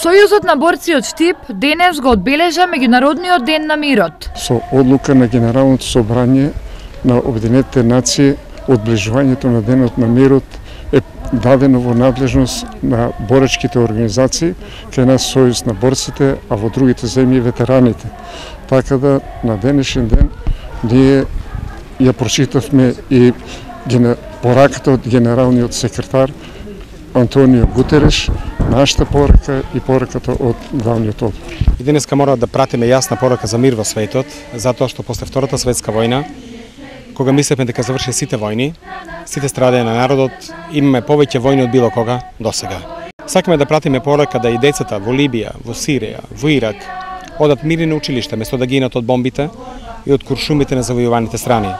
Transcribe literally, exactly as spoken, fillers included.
Сојузот на борци од Штип денес го одбележа меѓународниот ден на мирот. Со одлука на Генералното собрание на Обединетите нации, одближувањето на денот на мирот е дадено во надлежност на боречките организации, кај нас Сојуз на борците, а во другите земји ветераните. Така да на денешен ден ние ја прочитавме и пораката од генералниот секретар Антонио Гутереш, нашата порака и пораката од главниот одбор. И денеска мора да пратиме јасна порака за мир во светот, затоа што после Втората светска војна, кога мислевме дека заврши сите војни, сите страдања на народот, имаме повеќе војни од било кога досега. Сакаме да пратиме порака да и децата во Либија, во Сирија, во Ирак одат мирни на училиште место да гинат од бомбите и од куршумите на завојуваните страни.